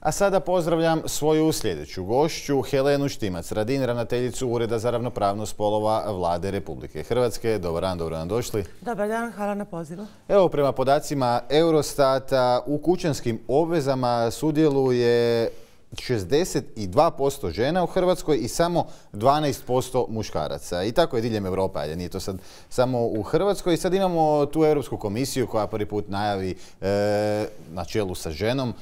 A sada pozdravljam svoju sljedeću gošću, Helenu Štimac Radin, ravnateljicu Ureda za ravnopravnost spolova Vlade Republike Hrvatske. Dobar dan, dobro nam došli. Dobar dan, hvala na pozivu. Evo, prema podacima Eurostata, u kućanskim obvezama sudjeluje 62% žena u Hrvatskoj i samo 12% muškaraca. I tako je diljem Europe, ali nije to sad samo u Hrvatskoj. I sad imamo tu Europsku komisiju koja prvi put najavi na čelu sa ženom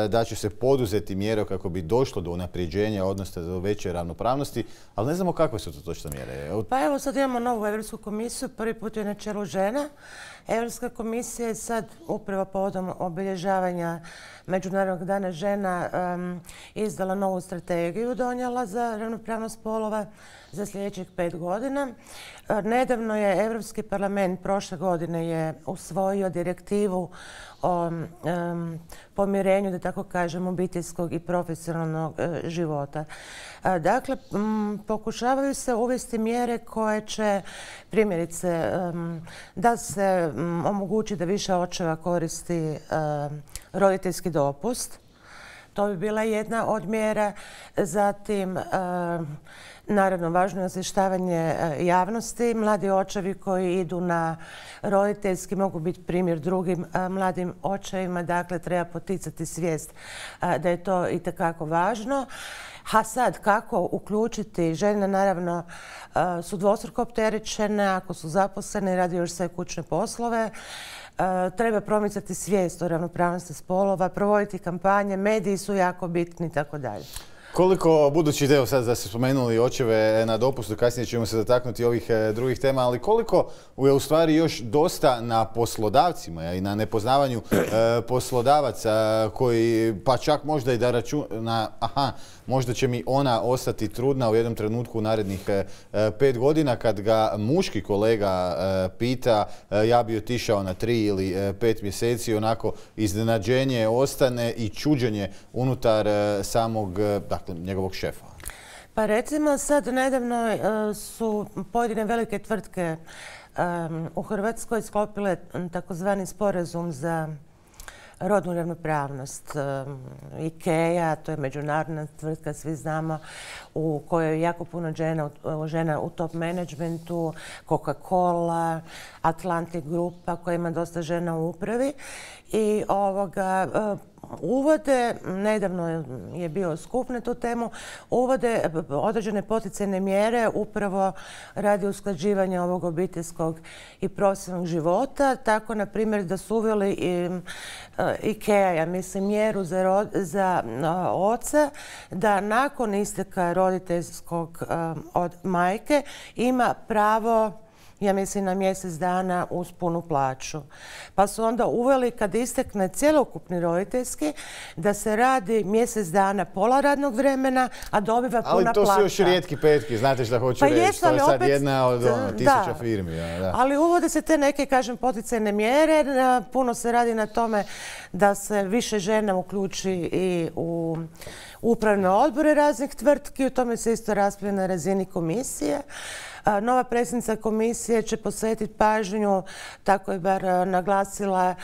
da će se poduzeti mjere kako bi došlo do unapređenja, odnosno do veće ravnopravnosti, ali ne znamo kakve su to točne mjere. Pa evo sad imamo novu Europsku komisiju, prvi put je na čelu žena. Europska komisija je sad upravo povodom obilježavanja Međunarodnog dana žena izdala novu strategiju, donijela za ravnopravnost spolova za sljedećih 5 godina. Nedavno je Europski parlament prošle godine je usvojio direktivu o pomirenju, da tako kažem, obiteljskog i profesionalnog života. Dakle, pokušavaju se uvesti mjere koje će, primjerice, da se omogući da više očeva koristi roditeljski dopust. To bi bila jedna od mjera. Zatim, naravno, važno je osvještavanje javnosti. Mladi očevi koji idu na roditeljski mogu biti primjer drugim mladim očevima. Dakle, treba poticati svijest da je to itekako važno. A sad, kako uključiti žene, naravno, su dvostruko opterećene, ako su zaposlene i radi još sve kućne poslove. Treba promicati svijest o ravnopravnosti spolova, provoditi kampanje, mediji su jako bitni i tako dalje. Koliko, budući da sad da ste spomenuli očeve na dopustu, kasnije ćemo se dotaknuti ovih drugih tema, ali koliko je u stvari još dosta na poslodavcima i na nepoznavanju poslodavaca koji pa čak možda i da računa, možda će mi ona ostati trudna u jednom trenutku u narednih 5 godina kad ga muški kolega pita ja bi otišao na 3 ili 5 mjeseci, onako iznenađenje ostane i čuđenje unutar samog njegovog šefa. Pa recimo sad nedavno su pojedine velike tvrtke u Hrvatskoj sklopile takozvani sporazum za rodnu ravnopravnost. IKEA, to je međunarodna tvrtka, svi znamo, u kojoj je jako puno žena u top managementu, Coca-Cola, Atlantic Grupa koja ima dosta žena u upravi. I uvode, nedavno je bio skup na tu temu, uvode određene poticajne mjere upravo radi usklađivanja ovog obiteljskog i profesionalnog života. Tako, na primjer, da su uveli IKEA, ja mislim, mjeru za oca da nakon isteka roditeljskog od majke ima pravo, ja mislim, na mjesec dana uz punu plaću. Pa su onda uveli kad istekne cjelokupni roditeljski da se radi mjesec dana pola radnog vremena, a dobiva puna plaća. Ali to su još rijetki petki, znate šta hoću reći. To je sad jedna od 1000 firmi. Da. Ali uvode se te neke, kažem, poticajne mjere. Puno se radi na tome da se više žena uključi i u upravne odbore raznih tvrtki. U tome se isto raspravlja na razini komisije. Nova predsjednica komisije će posvetiti pažnju, tako je bar naglasila,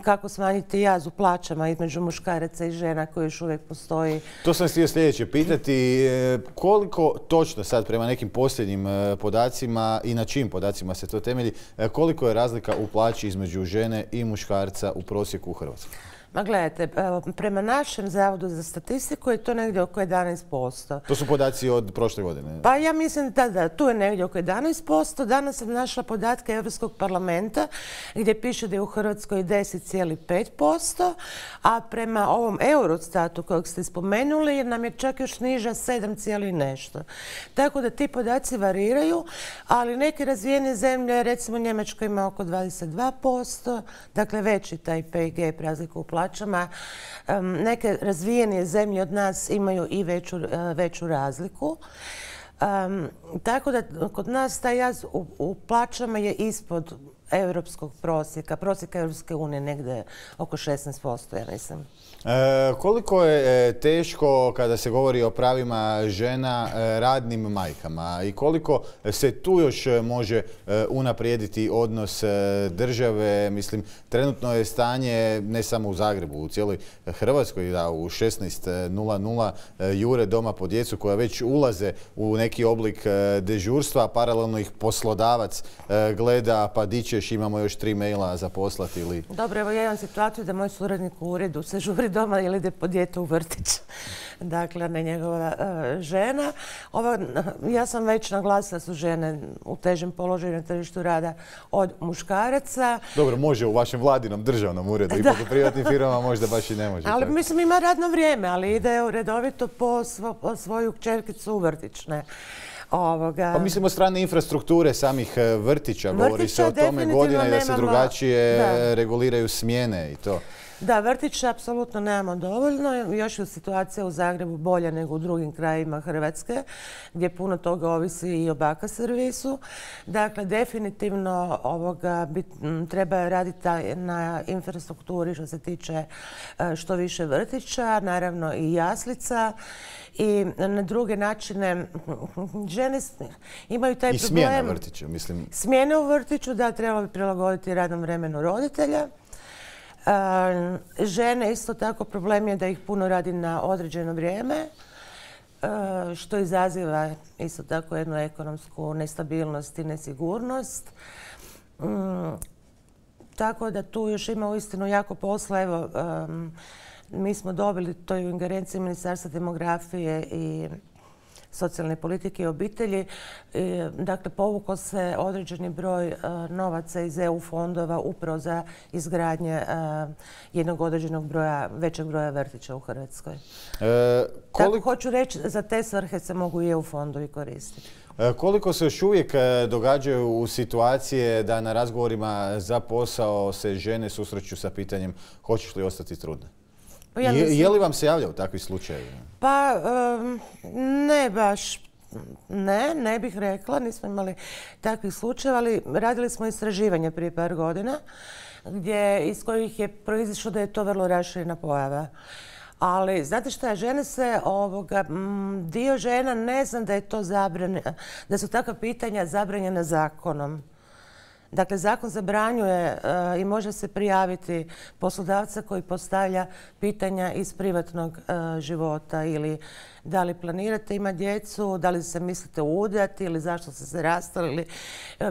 kako smanjiti jaz u plaćama između muškaraca i žena koji još uvijek postoji. To sam htio sljedeće pitati. Koliko točno sad prema nekim posljednjim podacima i na čijim podacima se to temelji, koliko je razlika u plaći između žene i muškarca u prosjeku u Hrvatskoj? Ma gledajte, prema našem Zavodu za statistiku je to negdje oko 11%. To su podaci od prošle godine? Pa ja mislim da tu je negdje oko 11%. Danas sam našla podatke Europskog parlamenta gdje piše da je u Hrvatskoj 10,5%, a prema ovom Eurostatu kojeg ste spomenuli nam je čak još niža 7, nešto. Tako da ti podaci variraju, ali neke razvijene zemlje, recimo Njemačka ima oko 22%, dakle veći taj pay gap, razliku u plaćama. Neke razvijenije zemlje od nas imaju i veću razliku. Tako da kod nas taj jaz u plaćama je ispod europskog prosjeka Europske unije negdje oko 16%, ja mislim. Koliko je teško kada se govori o pravima žena radnim majkama i koliko se tu još može unaprijediti odnos države? Mislim, trenutno je stanje ne samo u Zagrebu, u cijeloj Hrvatskoj, da u 16:00 jure doma po djecu koja već ulaze u neki oblik dežurstva, paralelno ih poslodavac gleda, pa di ćeš, imamo još 3 maila za poslati ili... Dobro, evo ja imam situaciju da moj suradnik u uredu se žuri doma ili ide po dijete u vrtić. Dakle, ne njegova žena. Ja sam već naglasila da su žene u težem položaju na tržištu rada od muškaraca. Dobro, može u vašem vladinom državnom uredu, ipak u privatnim firmama možda baš i ne može. Ali mislim ima radno vrijeme, ali ide redovito po svoju kćerkicu u vrtić. Pa mislim od strane infrastrukture samih vrtića, govori se o tome godina i da se drugačije reguliraju smjene i to. Da, vrtića apsolutno nemamo dovoljno. Još je situacija u Zagrebu bolja nego u drugim krajevima Hrvatske, gdje puno toga ovisi i o baka servisu. Dakle, definitivno treba raditi na infrastrukturi što se tiče što više vrtića, naravno i jaslica. I na druge načine žene imaju taj problem. I smjena vrtića, mislim. Smjene u vrtiću, da, trebalo bi prilagoditi radnom vremenu roditelja. Žene isto tako problem je da ih puno radi na određeno vrijeme, što izaziva isto tako jednu ekonomsku nestabilnost i nesigurnost. Tako da tu još ima uistinu jako posla. Evo, mi smo dobili to u ingerenciji Ministarstva demografije i socijalne politike i obitelji. Dakle, povukao se određeni broj novaca iz EU fondova upravo za izgradnje jednog određenog većeg broja vrtića u Hrvatskoj. Tako hoću reći, za te svrhe se mogu i EU fondovi koristiti. Koliko se još uvijek događaju u situacije da na razgovorima za posao se žene susreću sa pitanjem hoćeš li ostati trudna? Je li vam se javlja u takvih slučajevima? Pa ne baš. Ne bih rekla. Nismo imali takvih slučajeva, ali radili smo istraživanje prije par godina iz kojih je proizišlo da je to vrlo raširena pojava. Ali, znate šta, dio žena ne zna da je to da su takva pitanja zabranjena zakonom. Dakle, zakon zabranjuje i može se prijaviti poslodavca koji postavlja pitanja iz privatnog života ili da li planirate imati djecu, da li se mislite udati ili zašto ste se rastali ili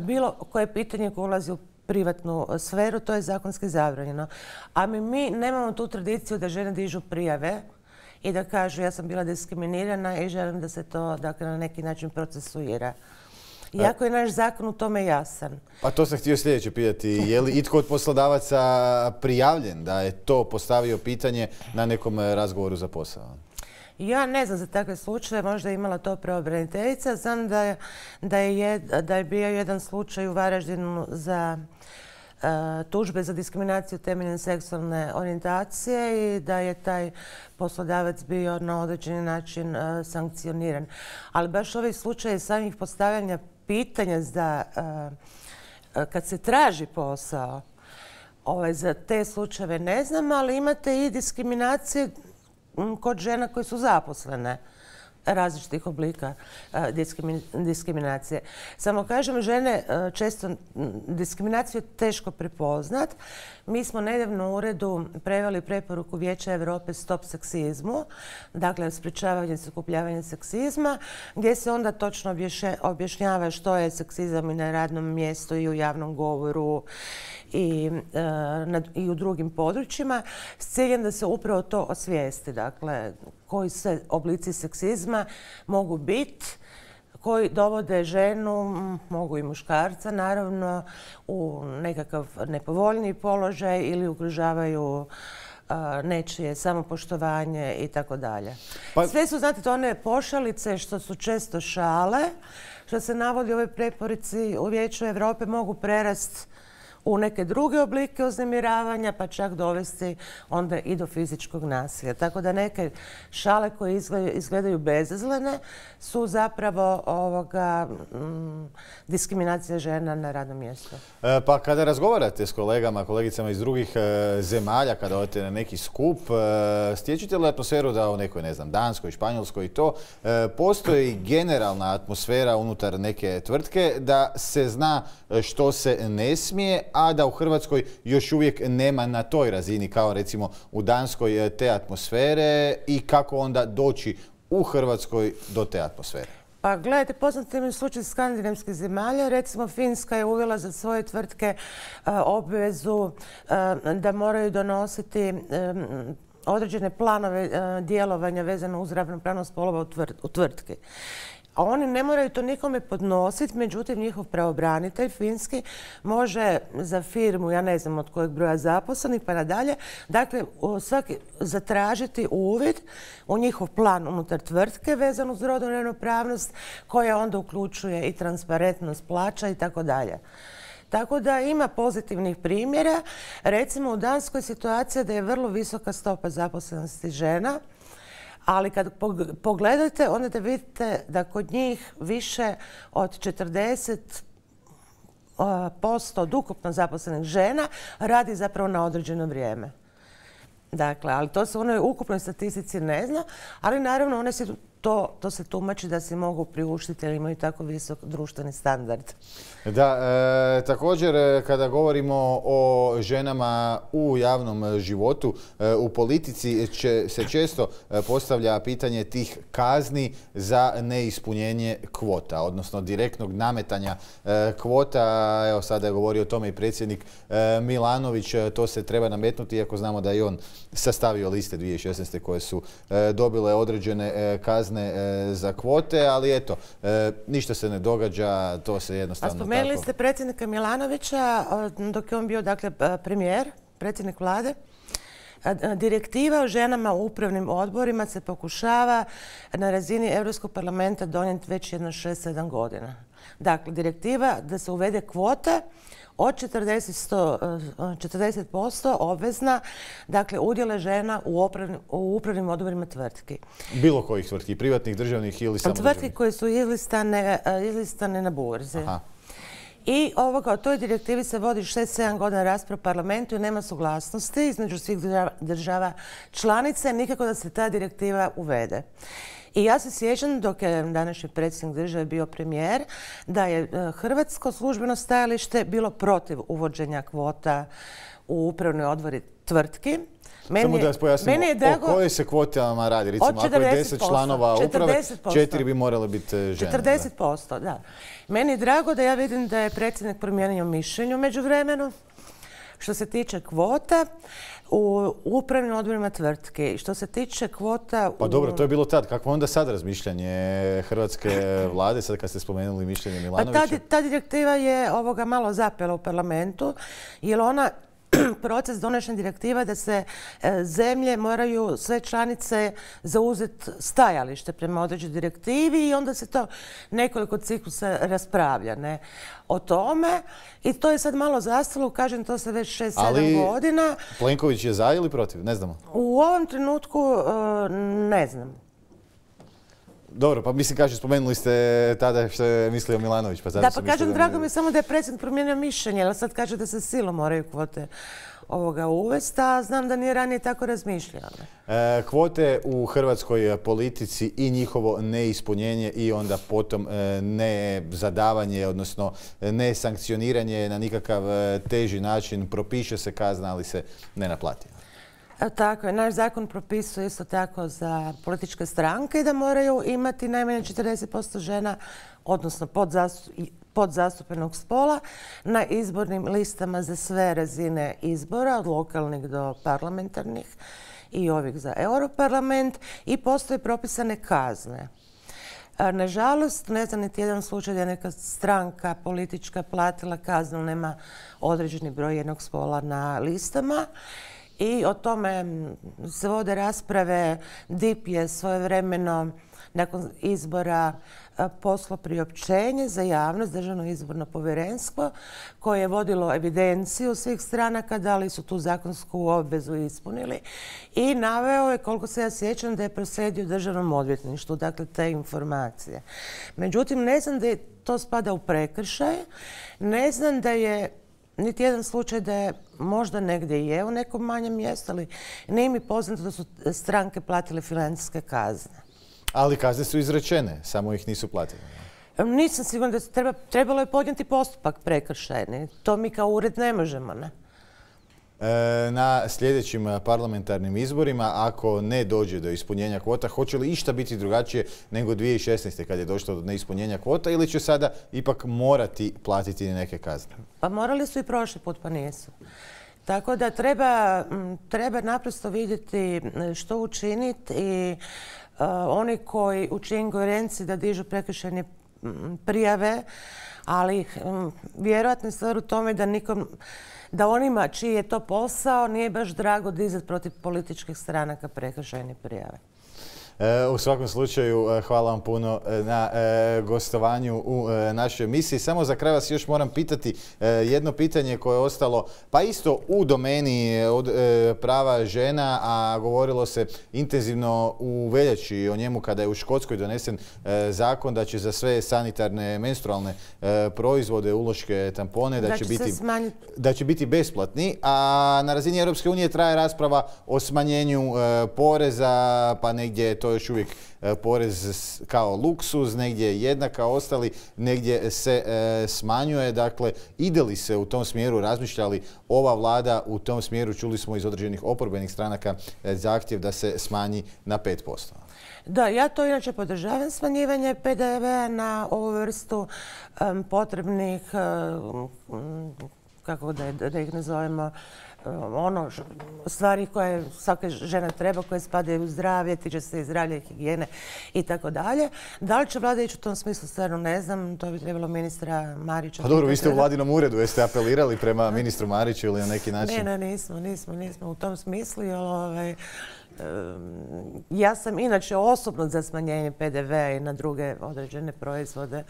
bilo koje pitanje koje ulazi u privatnu sferu, to je zakonski zabranjeno. A mi nemamo tu tradiciju da žene dižu prijave i da kažu ja sam bila diskriminirana i želim da se to na neki način procesuira. Iako je naš zakon u tome jasan. Pa to sam htio sljedeće pitati. Je li itko od poslodavaca prijavljen da je to postavio pitanje na nekom razgovoru za posao? Ja ne znam za takve slučaje, možda je imala to pravobraniteljica. Znam da je bio jedan slučaj u Varaždinu za tužbe za diskriminaciju temeljem seksualne orijentacije i da je taj poslodavac bio na određeni način sankcioniran. Ali baš ovaj slučaj samih postavljanja pitanja kad se traži posao, za te slučajeve ne znam, ali imate i diskriminacije kod žena koje su zaposlene, različitih oblika diskriminacije. Samo kažem, žene često diskriminaciju je teško prepoznat. Mi smo nedavno u uredu preveli preporuku Vijeća Europe Stop seksizmu, dakle sprječavanje i sukobljavanje seksizma, gdje se onda točno objašnjava što je seksizam i na radnom mjestu i u javnom govoru i u drugim područjima, s ciljem da se upravo to osvijesti. Dakle, koji sve oblici seksizma mogu biti, koji dovode ženu, mogu i muškarca naravno, u nekakav nepovoljniji položaj ili ugrožavaju nečije samopoštovanje i tako dalje. Sve su, znate, to one pošalice što su često šale, što se navodi u ovoj preporici u Vijeću Europe, mogu prerast u neke druge oblike uznemiravanja, pa čak dovesti onda i do fizičkog nasilja. Tako da neke šale koje izgledaju bezazlene su zapravo diskriminacija žena na radnom mjestu. Pa kada razgovarate s kolegama, kolegicama iz drugih zemalja, kada odete na neki skup, stječete li atmosferu da u nekoj, ne znam, Danskoj, Španjolskoj i to, postoji generalna atmosfera unutar neke tvrtke da se zna što se ne smije, a da u Hrvatskoj još uvijek nema na toj razini kao recimo u Danskoj te atmosfere i kako onda doći u Hrvatskoj do te atmosfere? Pa gledajte, poznati mi slučaj skandinavskih zemalja. Recimo Finska je uvela za svoje tvrtke obvezu da moraju donositi određene planove djelovanja vezano uz ravnopravnost spolova u tvrtki. A oni ne moraju to nikome podnositi, međutim njihov pravobranitelj finski može za firmu, ja ne znam od kojeg broja zaposlenih pa nadalje, dakle svaki zatražiti uvid u njihov plan unutar tvrtke vezan uz rodnu ravnopravnost koja onda uključuje i transparentnost plaća i tako dalje. Tako da ima pozitivnih primjera. Recimo u Danskoj situacija da je vrlo visoka stopa zaposlenosti žena, ali kad pogledate, onda da vidite da kod njih više od 40% od ukupno zaposlenih žena radi zapravo na određeno vrijeme. Dakle, ali to se u onoj ukupnoj statistici ne zna, ali naravno one se to se tumači da se mogu priuštiti jer imaju tako visok društveni standard. Da, također kada govorimo o ženama u javnom životu, u politici se često postavlja pitanje tih kazni za neispunjenje kvota, odnosno direktnog nametanja kvota. Evo sada je govorio o tome i predsjednik Milanović, to se treba nametnuti iako znamo da je on sastavio liste 2016. koje su dobile određene kazne za kvote, ali eto, ništa se ne događa, to se jednostavno tako... Spomenuli ste predsjednika Milanovića dok je on bio, dakle, premijer, predsjednik vlade. Direktiva o ženama u upravnim odborima se pokušava na razini Europskog parlamenta donijeti već jedno 6-7 godina. Dakle, direktiva da se uvede kvota od 40% obvezna, dakle, udjele žena u upravnim odborima tvrtki. Bilo kojih tvrtki, privatnih, državnih ili samo državnih? Tvrtki koje su izlistane na burzi. Aha. I o toj direktivi se vodi 6-7 godina rasprava u parlamentu i nema suglasnosti između svih država članica, nikako da se ta direktiva uvede. I ja se sjećam, dok je današnji predsjednik države bio premijer, da je hrvatsko službeno stajalište bilo protiv uvođenja kvota u upravne odbori tvrtki. Samo da vas pojasnimo, o kojoj se kvotama radi? Recimo, ako je 10 članova uprave, 4 bi morale biti žene. 40%, da. Meni je drago da ja vidim da je predsjednik promijenio mišljenje u međuvremenu. Što se tiče kvota u upravnim odborima tvrtke, što se tiče kvota... Pa dobro, to je bilo tad. Kakvo onda sad razmišljanje hrvatske vlade, sad kad ste spomenuli mišljenje Milanovića? Pa ta direktiva je malo zapela u parlamentu, jer ona proces donošenja direktiva da se zemlje moraju, sve članice, zauzeti stajalište prema određenoj direktivi i onda se to nekoliko ciklusa raspravlja o tome. I to je sad malo zastalo, kažem, to se već 6-7 godina. Ali Plenković je za ili protiv? Ne znamo. U ovom trenutku ne znam. Dobro, pa mislim, kažem, spomenuli ste tada što je mislio Milanović. Da, pa kažem, drago mi je samo da je predsjednik promijenio mišljenje, ali sad kaže da se silom moraju kvote uvesti, a znam da nije ranije tako razmišljao. Kvote u hrvatskoj politici i njihovo neispunjenje i onda potom ne zadavanje, odnosno ne sankcioniranje na nikakav teži način, propiše se kazna, ali se ne naplati. Tako je. Naš zakon propisuje isto tako za političke stranke da moraju imati najmanje 40% žena, odnosno podzastupljenog spola, na izbornim listama za sve razine izbora, od lokalnih do parlamentarnih i ovih za Europarlament, i postoje propisane kazne. Nažalost, ne znam niti jedan slučaj da je neka stranka politička platila kaznu, nema određeni broj jednog spola na listama. I o tome se vode rasprave. DIP je svojevremeno nakon izbora poslao priopćenje za javnost, Državno izborno povjerenstvo, koje je vodilo evidenciju svih stranaka, da li su tu zakonsku obvezu ispunili, i naveo je, koliko se ja sjećam, da je proslijedio Državnom odvjetništvu, dakle, te informacije. Međutim, ne znam da je to spada u prekršaj, ne znam da je niti jedan slučaj da je možda negdje je u nekom manjem mjestu, ali nije mi poznato da su stranke platile financijske kazne. Ali kazne su izrečene, samo ih nisu platili. Nisam sigurna da trebalo je podnijeti postupak prekršajni. To mi kao ured ne možemo, ne? Na sljedećim parlamentarnim izborima, ako ne dođe do ispunjenja kvota, hoće li išta biti drugačije nego 2016. kad je došlo do neispunjenja kvota, ili će sada ipak morati platiti neke kazne? Pa morali su i prošli put, pa nisu. Tako da treba naprosto vidjeti što učiniti i oni koji u čijoj ingerenciji da dižu prekršajne prijave, ali vjerojatno je stvar u tome da onima čiji je to posao nije baš drago dizati protiv političkih stranaka prekršajne prijave. U svakom slučaju, hvala vam puno na gostovanju u našoj emisiji. Samo za kraj vas još moram pitati jedno pitanje koje je ostalo pa isto u domeni od prava žena, a govorilo se intenzivno u veljači o njemu kada je u Škotskoj donesen zakon da će za sve sanitarne menstrualne proizvode, uloške, tampone, da će biti besplatni, a na razini Europske unije traje rasprava o smanjenju poreza, pa negdje je to još uvijek porez kao luksuz, negdje je jednak kao ostali, negdje se smanjuje. Dakle, ide li se u tom smjeru, razmišlja li ova vlada u tom smjeru? Čuli smo iz određenih oporbenih stranaka zahtjev da se smanji na 5%. Da, ja to inače podržavam, smanjivanje PDV-a na ovu vrstu potrebnih, kako da ih nazovemo, stvari koje svaka žena treba, koje spadaju u zdravlje, tiče se i zdravlja i higijene i tako dalje. Da li će vlada ići u tom smislu, stvarno ne znam, to bi trebalo ministra Marića. Pa dobro, vi ste u vladinom uredu, jeste apelirali prema ministru Mariću ili na neki način? Ne, nismo u tom smislu, jer ja sam inače osobno za smanjenje PDV-a i na druge određene proizvode,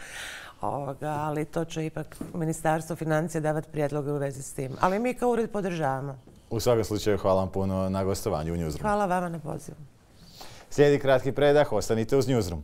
ali to će ipak Ministarstvo financija davati prijedloge u vezi s tim. Ali mi kao ured podržavamo. U svakom slučaju, hvala vam puno na gostovanju u Newsroomu. Hvala vama na pozivu. Slijedi kratki predah, ostanite uz Newsroom.